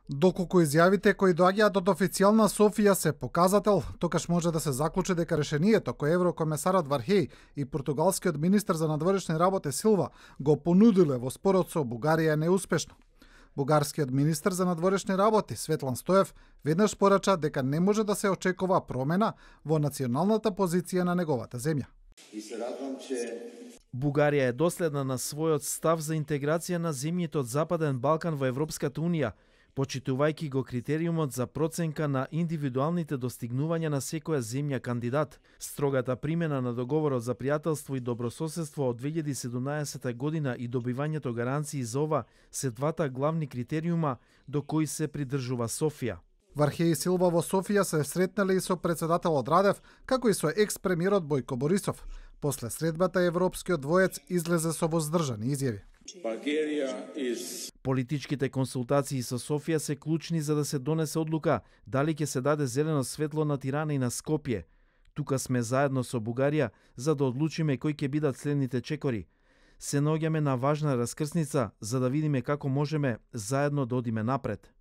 Доколку изјавите кои доаѓаат од официјална Софија се показател, токаш може да се заклучи дека решението кој еврокомесарот Вархеј и португалскиот министер за надворешни работи Силва го понудиле во спорот со Бугарија е неуспешно. Бугарскиот министер за надворешни работи Светлан Стоев веднаш порача дека не може да се очекува промена во националната позиција на неговата земја. И се радвам, че Бугарија е доследна на својот став за интеграција на земјите од Западен Балкан во Европската унија, почитувајќи го критериумот за проценка на индивидуалните достигнувања на секоја земја кандидат. Строгата примена на договорот за пријателство и добрососедство од 2017 година и добивањето гаранции за ова се двата главни критериума до кои се придржува Софија. Вархеј и Силва во Софија се сретнале и со председателот Радев, како и со екс-премиерот Бојко Борисов. После средбата европскиот двоец излезе со воздржани изјави. Политичките консултации со Софија се клучни за да се донесе одлука дали ќе се даде зелено светло на Тирана и на Скопје. Тука сме заедно со Бугарија за да одлучиме кои ќе бидат следните чекори. Се наоѓаме на важна раскрсница за да видиме како можеме заедно да одиме напред.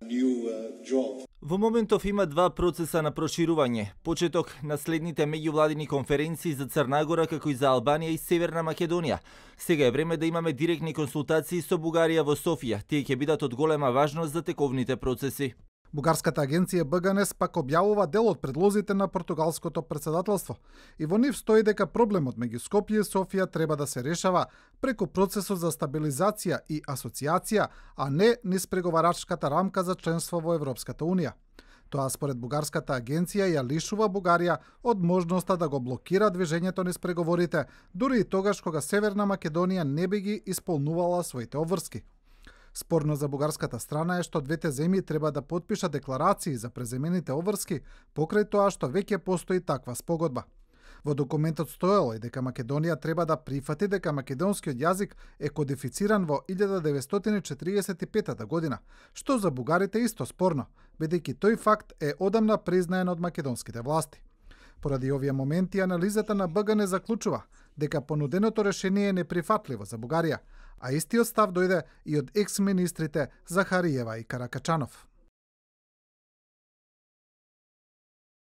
Во моментов има два процеса на проширување. Почеток на следните меѓувладини конференции за Црна Гора, како и за Албанија и Северна Македонија. Сега е време да имаме директни консултации со Бугарија во Софија. Тие ќе бидат од голема важност за тековните процеси. Бугарската агенција БГНС пак објавува дел од предлозите на португалското председателство и во нив стои дека проблемот меѓу Скопје и Софија треба да се решава преку процесот за стабилизација и асоциација, а не низ преговарачката рамка за членство во Европската унија. Тоа според бугарската агенција ја лишува Бугарија од можноста да го блокира движењето низ преговорите, дури и тогаш кога Северна Македонија не би ги исполнувала своите обврски. Спорно за бугарската страна е што двете земји треба да потпишат декларации за преземените обврски покрај тоа што веќе постои таква спогодба. Во документот стоело и дека Македонија треба да прифати дека македонскиот јазик е кодифициран во 1945 година, што за бугарите исто спорно, бидејќи тој факт е одамна признаен од македонските власти. Поради овие моменти, анализата на БГН заклучува дека понуденото решение е неприфатливо за Бугарија, а истиот став дојде и од екс-министрите Захариева и Каракачанов.